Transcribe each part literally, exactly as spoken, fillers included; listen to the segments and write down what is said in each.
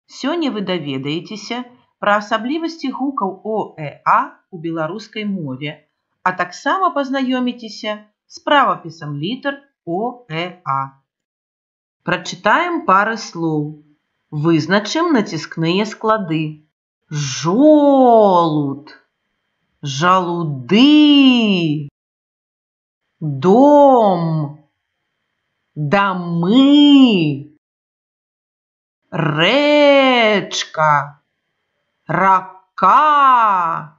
Сёння вы даведаецеся пра асаблівасці гукаў О, Э, А у беларускай мове, а таксама пазнаёміцеся з правапісам літар О, Э, А. Прачытаем пары слоў. Вызначым націскныя склады. Жолуд, жалуды, дом, дамы, рэчка, рака,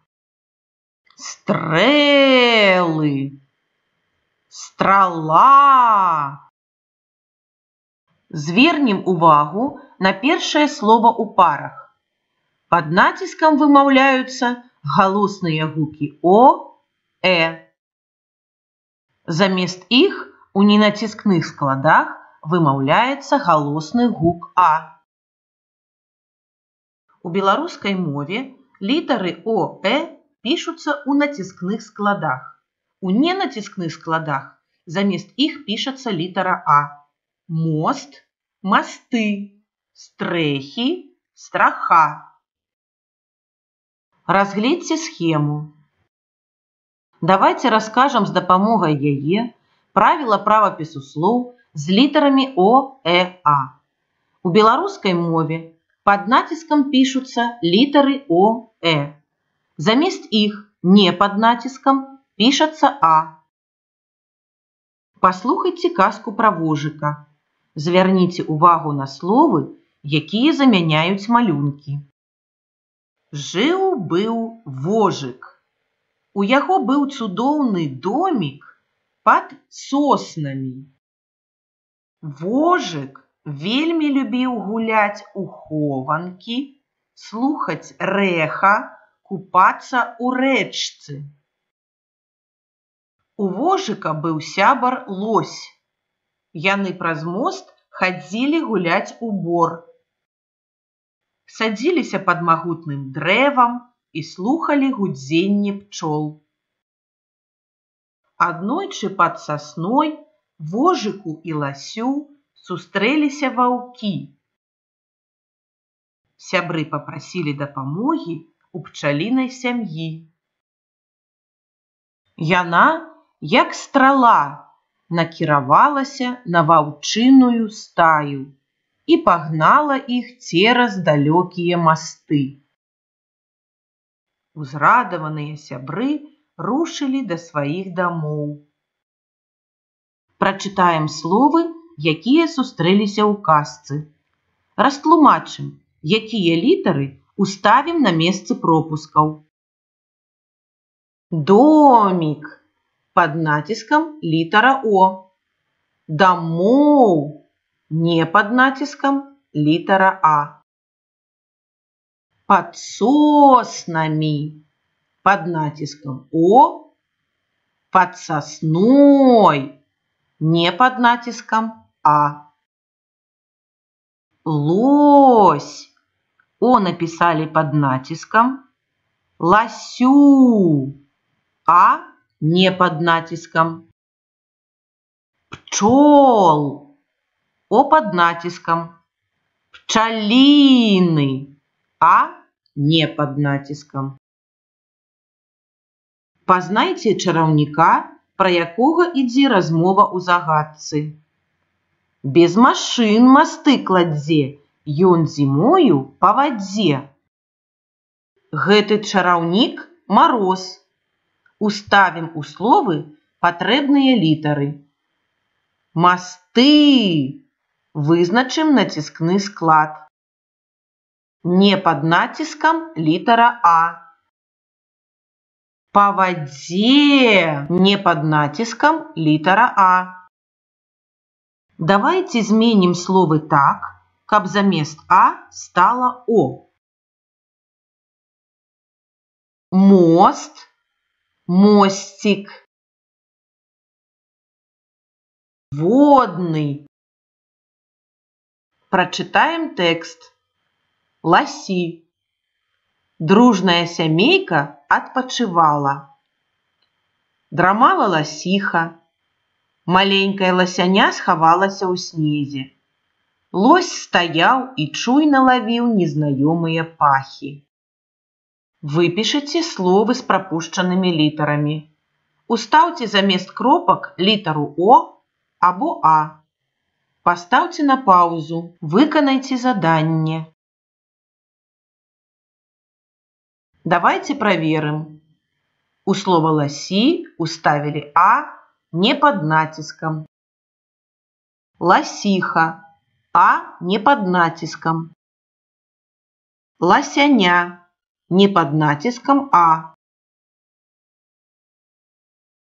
стрэлы, страла. Звернем увагу на першае слова ў парах. Пад націскам вымаўляюцца галосныя гукі О, Э. Замест іх у ненаціскных складах вымаўляецца галосны гук А. У беларускай мове літары О, Э пішуцца ў націскных складах. У ненаціскных складах замест іх пішацца літара А. Мост, масты, стрэхі, страха. Разгледзьце схему. Давайте раскажам з дапамогай яе правіла правапісу слоў з літарамі О, Э, А. У беларускай мове пад націскам пішуцца літары О, Э. Замест іх не пад націскам пішацца А. Паслухайце казку пра вожыка. Звярніце увагу на словы, якія замяняюць малюнкі. Жыў-быў вожык. У яго быў цудоўны домік пад соснамі. Вожык вельмі любіў гуляць у хованкі, слухаць рэха, купацца ў рэчцы. У вожыка быў сябар лось. Яны праз мост хадзілі гуляць у бор. Садзіліся пад магутным дрэвам і слухалі гудзенне пчол. Аднойчы пад сасной вожыку і ласю сустрэліся ваўкі. Сябры папрасілі дапамогі у пчалінай сям'і. Яна, як страла, накіравалася на ваўчыную стаю і пагнала іх цераз далёкія масты. Узрадаваныя сябры рушылі да сваіх дамоў. Прачытаем словы, якія сустрэліся ў казцы. Растлумачым, якія літары уставім на месцы пропускаў. Домік. Пад націскам літара О. Дамоў. Не пад націскам літара А. Пад соснамі. Пад націскам О. Пад сасной. Не пад націскам А. Лось. О напісалі пад націскам. Ласю. А не пад націскам. Пчол. О пад націскам. Пчаліны. А не пад націскам. Пазнайце чараўніка, пра якога ідзе размова ў загадцы. Без машын масты кладзе, ён зімою па вадзе. Гэты чараўнік мароз. Уставім у словы патрэбныя літары. Масты. Вызначым націскны склад. Не пад націскам літара А. Па вадзе. Не пад націскам літара А. Давайце зменім словы так, каб замест А стала О. Мост. Мосцік. Водны. Прачытаем тэкст. Ласі. Дружная сямейка адпачывала. Драмала ласіха. Маленькая ласяня схавалася ў снезе. Лось стаяў і чуйна лавіў незнаёмыя пахі. Выпішыце словы з прапушчанымі літарамі. Устаўце замест кропак літару О або А. Пастаўце на паузу, выканайце заданне. Давайте проверим. У слова «лоси» уставили «а» не под натиском. Лосиха. «А» не под натиском. Лосяня. Не под натиском «а».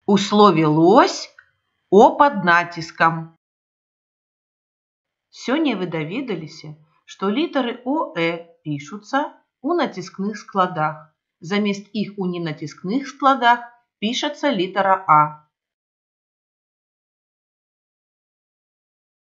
У слове «лось» «о» под натиском. Сёння вы даведаліся, што літары ОЭ пішуцца у націскных складах. Замест іх у ненатіскных складах пішацца літара А.